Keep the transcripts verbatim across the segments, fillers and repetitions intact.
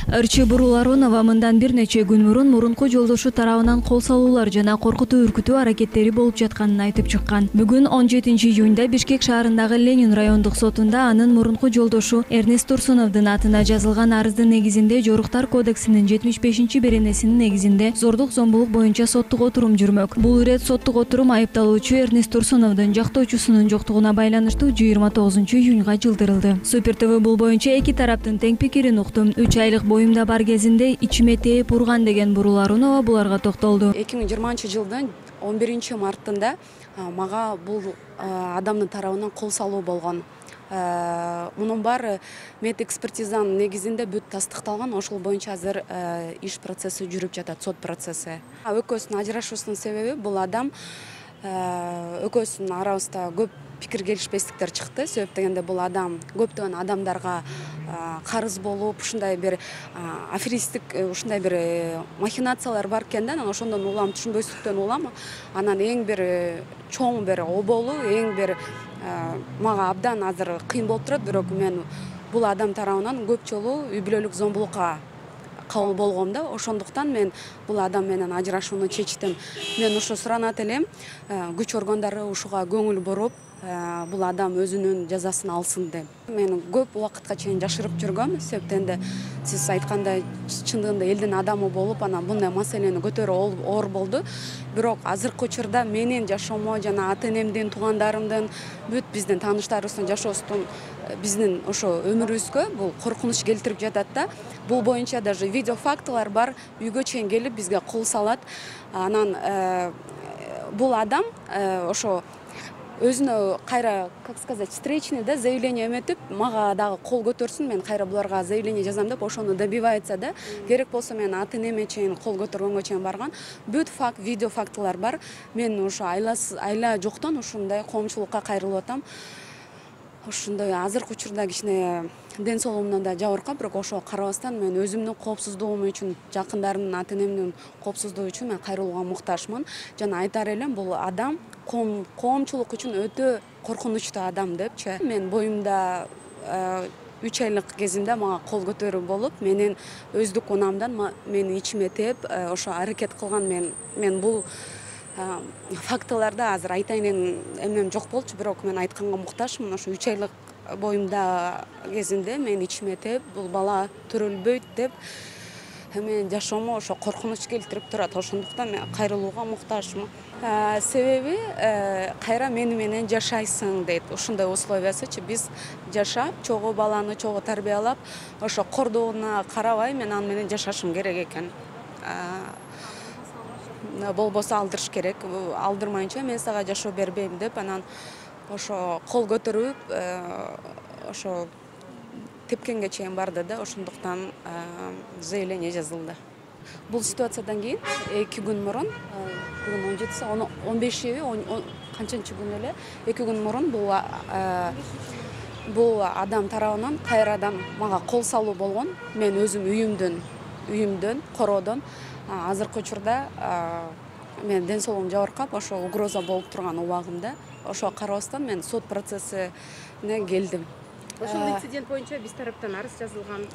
Ырчы Буруларонова мындан бир нече күн мурун мурунку жолдошу тарабынан кол салуулар жана коркутуу үркүтүү аракеттери болуп жатканын айтып чыккан. Бүгүн он жетинчи июнда Бишкек шаарындагы Ленин райондук сотунда анын мурунку жолдошу Эрнест Турсуновдун атына жазылган арыздын негизинде Жоруктар кодексинин жетимиш бешинчи беренесинин негизинде зордук зомбулук боюнча соттук отурум жүрмөк. Бул ирет соттук отурум айыпталуучу Эрнест Турсуновдун жактоочусунун жоктугуна байланыштуу жыйырма тогузунчу июнга жылдырылды. Супер ТВ бул боюнча эки тараптын тең пикирин уктум. үч айлык боюмда бар кезинде ичиме тээп урган деген Буруларонова буларга токтолду. эки миң жыйырманчы жылдын он биринчи мартында мага бул адамдын тарабынан кол салуу болгон. Мунун баары мед экспертизанын негизинде бүт тастыкталган. Ошол боюнча азыр иш процесси жүрүп жатат, сот процесси. Экөөсүнүн ажырашуусунун себеби бул адам экөөсүнүн арабызда көп пикир келишпестиктер чыкты. Себеп дегенде бул адам көптөгөн адамдарга карыз болуп, ушундай бир аферистик, ушундай бир махинациялар бар экен да. Анан ошондон улам, түшүнбөйсүздүктөн улам. Анан эң бир чоң бир оболу, эң бир мага абдан азыр кыйын болуп турат, бирок мен бул адам тарабынан көп жолу үй бүлөлүк зомбулукка кабыл болгом да. Ошондуктан мен бул адам менен ажырашууну чечтим. Мен ошо суранат элем, күч органдары ушуга көңүл буруп, бул адам өзүнүн жазасын алсын деп. Мен көп убакытка чейин жашырып жүргөм. Себептен сиз айткандай чындыгында элдин адамы болуп, анан мындай маселени көтөрүү оор болду. Бирок азыркы учурда менин жашоомо жана ата-энемдин, туугандарымдын, бүт биздин тааныштарыбыздын жашоосун, биздин ошо өмүрүбүзгө бул коркунуч келтирип жатат да. Бул боюнча даже видео фактылар бар, үйгө чейин келип бизге кол салат. Анан бул адам ошо өзүнө кайра, как сказать, встречный да заявление эметип, мага дагы кол көтөрсүн, мен кайра буларга заявление жазам деп ошону добивается да. Керек болсо мен ата-энеме чейин кол көтөргөнгө чейин барган. Бүт факт, видео фактылар бар. Мен ошо айла жоктон ушундай коомчулукка кайрылып атам. Ошондой азыркы учурда кичине ден соолугумдан да жабыркап, бирок ошого карабастан мен өзүмдүн коопсуздугум үчүн, жакындарымдын, ата-энемдин коопсуздугу үчүн мен кайрылууга муктажмын. Жана айтар элем, бул адам коомчулук үчүн өтө коркунучтуу адам депчи. Мен боюмда үч айлык кезимде мага кол көтөрүү болуп, менин өздүк унамдан мени ичиме тээп, ошо аракет кылган. Мен мен бул фактыларды азыр айтайын эмнем жок болчу, бирок мен айтканга муктажмын. Ошо үч айлык боюмда кезинде мен ичиме тээп, бул бала төрөлбөйт деп мен жашоомо ошо коркунуч келтирип турат. Ошондуктан мен кайрылууга муктажмын. Себеби кайра мени менен жашайсың дейт. Ушундай условиясычы биз жашап, чогуу баланы чогуу тарбиялап, ошо кордоону карабай мен аны менен жашашым керек экен. Болбосо алдырыш керек. Алдырмайынча мен сага жашоо бербейм деп, анан ошо кол көтөрүп, ошо тепкенге чейин барды да. Ошондуктан заявление жазылды. Бул ситуациядан кийин эки күн мурун, бүгүн он жетиси, он бешиби, канчанчы күн эле, эки күн мурун бул бул адам тарабынан кайрадан мага кол салуу болгон. Мен өзүм үйүмдөн, үйүмдөн, короодон азыркы учурда мен ден соолугум жабыркап, ошо угроза болуп турган убагымда, ошого карабастан мен сот процессине келдим. Ошол инцидент боюнча биз тараптан арыз жазылган,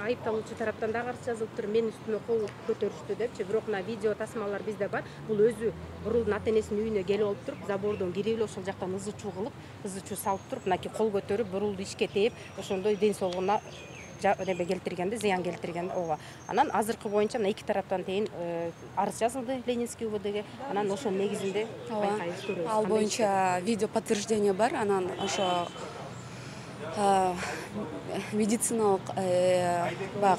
айыпталуучу тараптан дагы арыз жазылып туруп, менин үстүмө кол көтөрүштү депчи. Бирок мына видео тасмалар бизде бар. Бул өзү Бурулдун ата-энесинин үйүнө келип алып туруп, забордон кирип эле ошол жактан ызы чуу кылып, ызы чуу салып туруп, мынакей кол көтөрүп, Бурулду ишке тээп, ошондой ден соолугуна неме келтиргенди, зыян келтирген. Ооба. Анан азыркы боюнча мына эки тараптан тең арыз жазылды Ленинский УВДге. Анан ошонун негизинде байкайбыз, көрөбүз. Ал боюнча видео подтверждение бар. Анан ошо медициналык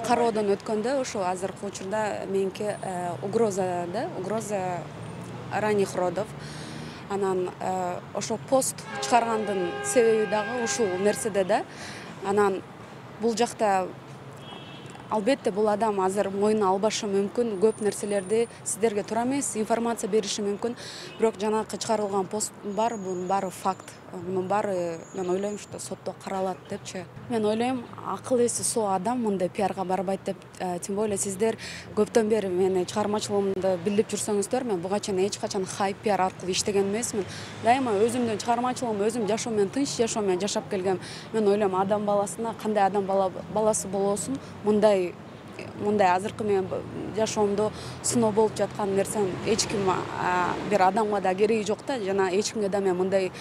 кароодон өткөндө ошо азыркы учурда меники угроза да, угроза ранних родов. Анан ошо пост чыгаргандын себеби дагы ушул нерседе да. Анан бул жакта албетте бул адам азыр моюна албашы мүмкүн, көп нерселерди сиздерге туура эмес информация бериши мүмкүн. Бирок жанагы чыгарылган пост бар, бунун баары факт. Мунун баары мен ойлойм, что сотто каралат депчи. Мен ойлойм, акыл эси соо адам мындай пиарга барбайт деп. Тем более сиздер көптөн бери мени чыгармачылыгымды билип жүрсөңүздөр, мен буга чейин эч качан хайп пиар аркылуу иштеген эмесмин. Дайыма өзүмдүн чыгармачылыгым, өзүм жашоо менен, тынч жашоо менен жашап келгем. Мен ойлойм, адам баласына кандай адам баласы болосун, мындай мындай азыркы менин жашоомдо сыноо болуп жаткан нерсем эч ким бир адамга да кереги жок да, жана эч кимге да мен мындай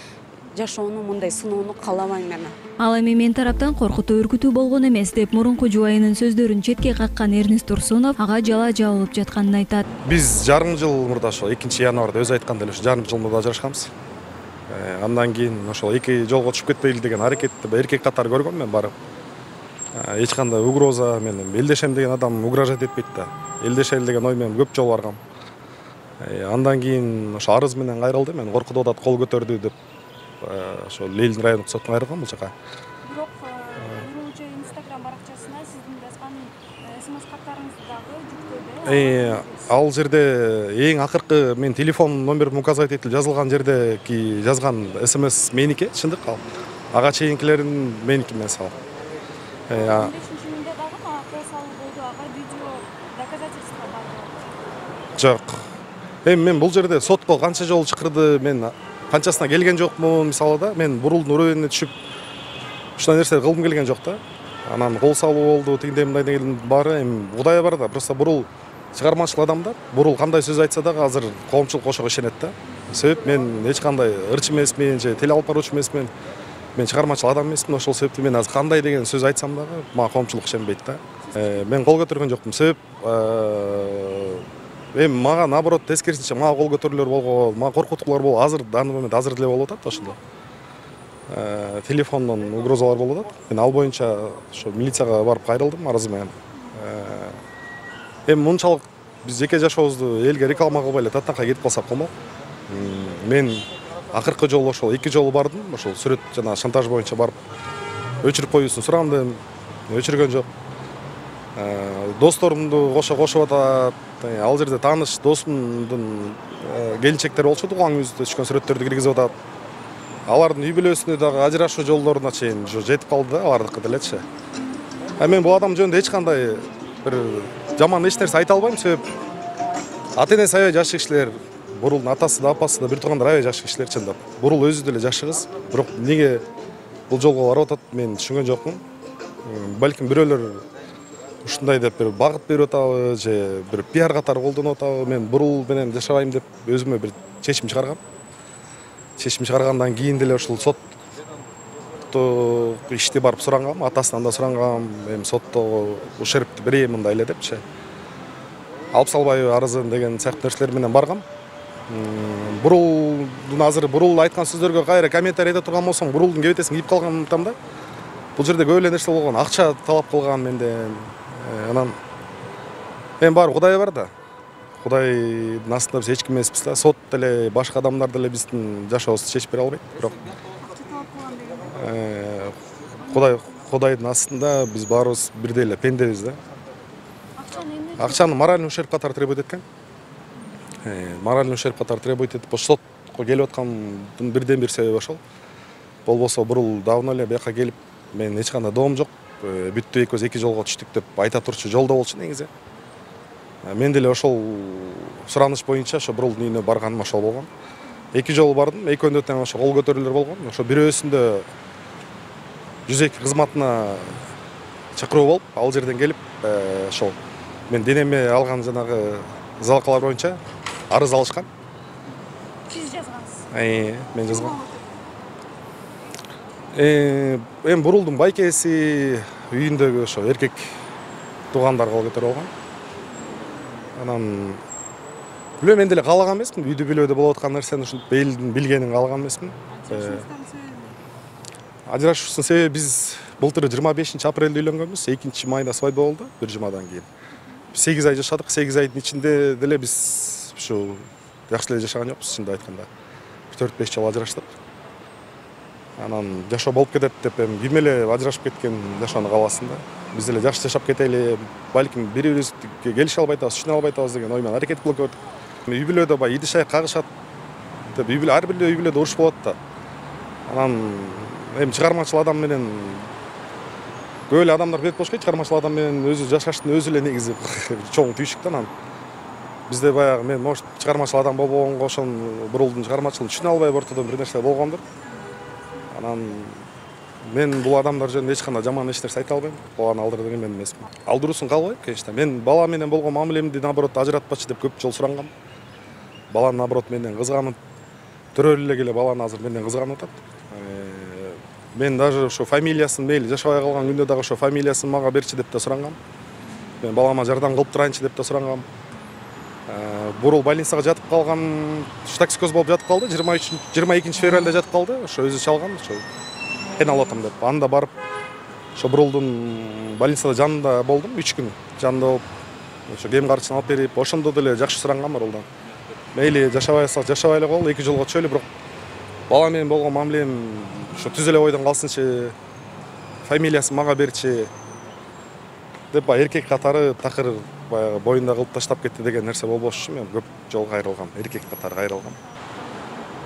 жашоону, мындай сыноону каалабайм мен. Ал эми мен тараптан коркутуу үркүтүү болгон эмес деп мурунку жубайынын сөздөрүн четке каккан Эрнис Турсунов ага жала жабылып жатканын айтат. Биз жарым жыл мурда ошол экинчи январда өзү айткандай эле жарым жыл мурда ажырашканбыз. Андан кийин ошол эки жолго түшүп кетпейли деген аракетти эркек катары көргөм мен барып. Эч кандай угроза менен элдешем деген адам угрожать этпейт да. Элдешели деген ой менен көп жолу баргам. Андан кийин ошо арыз менен кайрылды, мен коркутуп атат, кол көтөрдү деп ошо Ленин райондук сотуна кайрылгам бул жака. Бирок Уруучу Instagram баракчасына сиздин жазган смс каттарыңызды дагы жүктөдү. Ал жерде эң акыркы мен телефон номерим указать этилип жазылган жердеки жазган смс меники, чындык ал. Ага чейинкилерин меники эмес ал. он бешинчи июнда дагы мага кол салуу болду, ага видео доказательство бар. Жок. Эми мен бул жерде сотко канча жолу чакырды, мен канчасына келген жокмун, мисалы да, мен бурулдун уровенине түшүп ушундай нерсе кылгым келген жок да. Анан кол салуу болду, тигиндей мындай деген баары эми Кудай бар да, просто бурул чыгармачыл адамдар, бурул кандай сөз айтса дагы азыр коомчулук ошого ишенет да. Себеп мен эч кандай ырчы эмесмин, же теле алып баруучу эмесмин. Мен чыгармачыл адам эмесмин, ошол себептен мен азыр кандай деген сөз айтсам дагы мага коомчулук ишенбейт да. Мен кол көтөргөн жокмун. Себеп эми мага наоборот тескерисинче мага кол көтөрүүлөр болгон, мага коркутуулар болуп, азыр данный момент азыр деле болуп атат ошондо. Телефондон угрозалар болуп атат. Мен ал боюнча ошо милицияга барып кайрылдым арыз менен. Эми мынчалык биз жеке жашообузду элге реклама кылбай эле таттакка кетип калсак болмок. Мен акыркы жолу ошол эки жолу бардым, ошол сүрөт жана шантаж боюнча барып өчүрүп коюусун сурандым, өчүргөн жок. Досторумду кошо кошуп атат. Ал жерде тааныш досумдун келинчектери болчу, тууган күнүбүздө түшкөн сүрөттөрдү киргизип атат. Алардын үй бүлөсүнө дагы ажырашуу жолдоруна чейин жетип калды да, алардыкы делечи. А мен бул адам жөнүндө эч кандай бир жаман эч нерсе айта албайм, себеп ата-энеси аябай жакшы кишилер, бурулдун атасы да, апасы да, бир туугандар аябай жакшы кишилер чындап. Бурул өзү деле жакшы кыз, бирок эмнеге бул жолго барып атат мен түшүнгөн жокмун. Балким бирөөлөр ушундай деп бир багыт берип атабы, же бир пиар катары колдонуп атабы, мен бурул менен жашабайм деп өзүмө бир чечим чыгаргам. Чечим чыгаргандан кийин деле ушул сотто ишти барып сурангам, атасынан да сурангам, эми сотто ушерпти берейин мындай эле депчи. Алып салбайбы арызын деген сыяктуу нерселер менен баргам. Бурулдун азыр бурул айткан сөздөргө кайра комментарий эте турган болсоң, бурулдун кебетесин кийип калган айтам да. Бул жерде көп эле нерсе болгон, акча талап кылган менден. Анан эми баары Кудай бар да. Кудайдын астында биз эч ким эмеспиз да. Сот деле, башка адамдар деле биздин жашообузду чечип бере албайт. Бирок Кудай Кудайдын астында биз баарыбыз бирдей эле пендебиз да. Акчаны моральный ущерб катары требует эткен. Моральный ущерб катары требует этип, сотко келип аткандын бирден бир себеби ошол. Болбосо бурул давно эле бияка келип, мен эч кандай доом жок, бүттү экөөбүз эки жолго түштүк деп айта турчу жолдо болчу негизи. Мен деле ошол сураныш боюнча ошо бурулдун үйүнө барганым ошол болгон. Эки жолу бардым, экөөндө тең ошо кол көтөрүүлөр болгон. Ошо бирөөсүндө жүз эки кызматына чакыруу болуп, ал жерден келип, ошол мен денеме алган жанагы залакалар боюнча арыз алышкан. Сиз жазгансыз? Мен жазгам. Эми бурулдун байкеси үйүндөгү ошо эркек туугандар кол көтөрүп алган. Анан билбейм, мен деле каалаган эмесмин, үйдү бүлөдө болуп аткан нерсени ушинтип элдин билгенин каалаган эмесмин. Ажырашуубуздун себеби биз былтыр жыйырма бешинчи апрелде үйлөнгөнбүз, экинчи майда свадьба болду, бир жумадан кийин. сегиз ай жашадык, сегиз айдын ичинде деле биз ушу жакшы эле жашаган жокпуз, чындап айтканда. төрт беш жыл ажыраштык. Анан жашоо болуп кетет деп эми ким эле ажырашып кеткен жашоону кааласын да. Биз деле жакшы жашап кетели, балким бири-бирибизге келише албай атабыз, түшүнө албай атабыз деген ой менен аракет кылып көрдүк. Үй бүлөдө бай идиш аяк кагышат деп, үй бүлө ар бир үй бүлөдө уруш болот да. Анан эми чыгармачыл адам менен көп эле адамдар билет болуш керек, чыгармачыл адам менен өзү жашаштын өзү эле негизи чоң түйшүк да. Анан бизде баягы мен может чыгармачыл адам болбогонго ошон бурулдун чыгармачылыгын түшүнө албай ортодон бир нерсе болгондур. Анан мен бул адамдар жөнүндө эч кандай жаман эч нерсе айта албайм. Баланы алдырдым мен эмесмин. Алдыруусун каалбайм, конечно. Мен бала менен болгон мамилемди наоборот ажыратпачы деп көп жолу сурангам. Баланы наоборот менден кызганып, төрөлү эле келе баланы азыр менден кызганып атат. Мен даже ошо фамилиясын мейли жашабай калган күндө дагы ошо фамилиясын мага берчи деп да сурангам. Мен балама жардам кылып турайынчы деп да сурангам. Бурул больницага жатып калган, токсикоз болуп жатып калды. жыйырма экинчи февралда жатып калды. Ошо өзү чалган, ошо кыйналып атам деп. Анда барып ошо бурулдун больницада жанында болдум үч күн. Жанында болуп, ошо кем карчын алып берип, ошондо деле жакшы сурангам бурулдан. Мейли жашабай алсак жашабай эле кол, эки жолго чөйлү, бирок бала менен болгон мамилем ошо түз эле бойдон калсынчы, фамилиясын мага берчи деп баягы эркек катары такыр баягы боюнда кылып таштап кетти деген нерсе болбош үчүн мен көп жолу кайрылгам, эркек катары кайрылгам.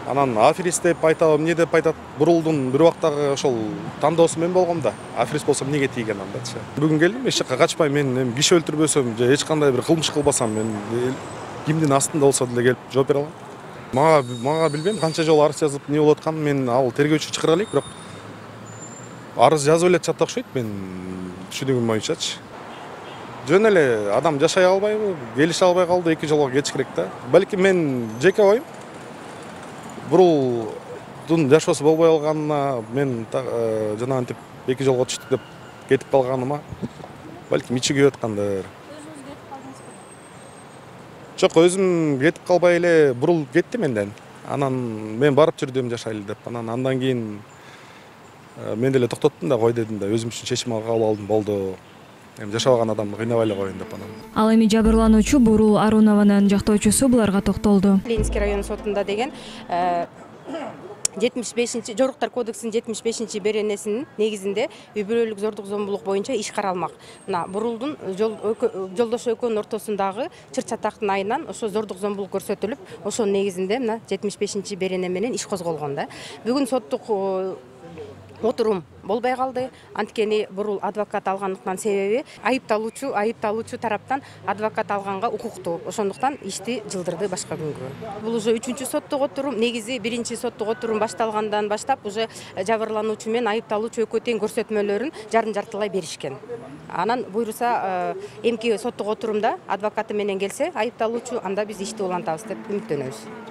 Анан аферист деп айтабы, эмне деп айтат, бурулдун бир убактагы ошол тандоосу мен болгом да. Аферист болсом эмнеге тийген андачы. Бүгүн келдим, эч жака качпайм, мен эми киши өлтүрбөсөм же эч кандай бир кылмыш кылбасам, мен кимдин астында болсо деле келип жооп бере алам. Мага мага билбейм канча жолу арыз жазып эмне болуп атканын, мен ал тергөөчү чакыра элек, бирок арыз жазып эле атышат окшойт мен түшүнүгүм боюнчачы. Жөн эле адам жашай албайбы, келише албай калды, эки жолго кетиш керек да. Балким мен жеке оюм бурулдун жашоосу болбой калганына, мен жанагынтип эки жолго түштүк деп кетип калганыма балким ичи күйүп аткандыр. Өзүңүз кетип калдыңызбы? Жок, өзүм кетип калбай эле бурул кетти менден. Анан мен барып жүрдүм жашайлы деп. Анан андан кийин мен деле токтоттум да, кой дедим да, өзүм үчүн чечим кабыл алдым, болду. Эми жашабаган адамды кыйнабай эле коеюн деп анан. Ал эми жабырлануучу Бурул Арунованын жактоочусу буларга токтолду. Ленинский район сотунда деген жетимиш бешинчи Жоруктар кодексинин жетимиш бешинчи беренесинин негизинде үй бүлөлүк зордук зомбулук боюнча иш каралмак. Мына бурулдун жолдошу экөөнүн ортосундагы чыр чатактын айынан ошо зордук зомбулук көрсөтүлүп, ошонун негизинде мына жетимиш бешинчи берене менен иш козголгон да. Бүгүн соттук отурум болбой калды. Анткени бурул адвокат алгандыктан себеби айыпталуучу айыпталуучу тараптан адвокат алганга укуктуу. Ошондуктан ишти жылдырды башка күнгө. Бул уже үчүнчү соттук отурум. Негизи биринчи соттук отурум башталгандан баштап уже жабырлануучу менен айыпталуучу экөө тең көрсөтмөлөрүн жарын жартылай беришкен. Анан буйруса эмки соттук отурумда адвокаты менен келсе айыпталуучу, анда биз ишти улантабыз деп үмүттөнөбүз.